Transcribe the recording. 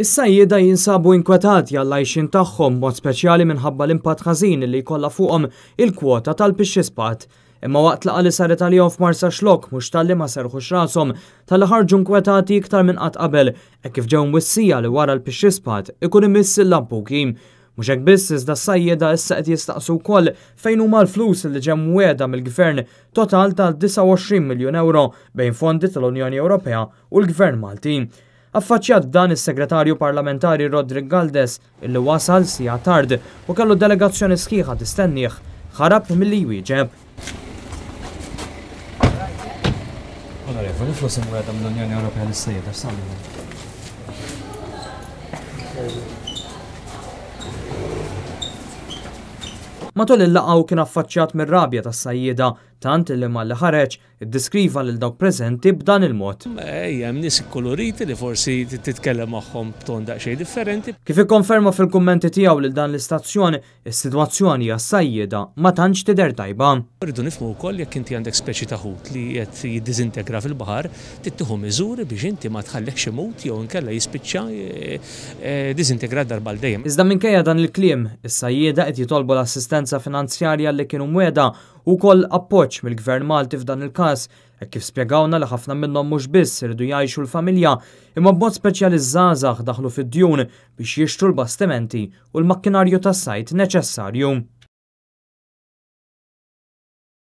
Is-sajjieda jinsabu inkwetati għall-għajxien tagħhom b'mod speċjali minħabba l-impatt ħażin li jkollha fuqhom il-kwota tal-pixxispad. Imma waqt laqgħa li saret għalihom f'Marsaxlokk mhux talli ma serrħux rashom, talli ħarġu nkwetati iktar minn qatt qabel hekk kif ġew mwissija li wara l-pixxispad ikun imiss il-lampuki. Mhux hekk biss iżda s-sajjieda issa qed jistaqsu wkoll fejn huma l-flus li ġew mwiegħda mill-Gvern total ta' 29 miljun ewro bejn fondi tal-Unjoni Ewropea u l-Gvern Malti. Affaċċjat b'dan is-Segretarju Parlamentari Roderick Galdes, illi wasal siegħa tard u kellu delegazzjoni sħiħa tistennieh, ħarab milli jwieġeb. Onorevoli, flus imwiegħda mill-Unjoni Ewropea lis-sejjeda x'sar minnhom? Matul il-laqgħa hu kien affaċċjat mir-rabja tas-sajjieda tant illi malli ħareġ, Iddeskriva lil dawk preżenti b'dan il-mod. Ejja, hemm nies ikkuluriti li forsi titkellem magħhom b'ton daqsxejn differenti. Kif ikkonferma fil-kummenti tiegħu lil dan l-istazzjon, is-sitwazzjoni għas-sajjieda ma tantx tidher tajba. Irridu nifhmu wkoll jekk inti għandek speċi ta' ħut li qed jiddiżintegra fil-baħar, trid tieħu miżuri biex inti ma tħallihx imut jew inkella jispiċċa diżintegrat darba għal dejjem. Iżda minkejja dan il-kliem, is-sajjieda qed jitolbu l-assistenza finanzjarja li kienu mwiegħda u wkoll appoġġ mill-Gvern Malti f'dan il-każ, hekk kif spjegawlna li ħafna minnhom mhux biss iridu jgħixu l-familja, imma b'mod speċjali ż-żgħażagħ daħlu fid-djun biex jixtru l-bastimenti u l-makkinarju tas-sajd neċessarju.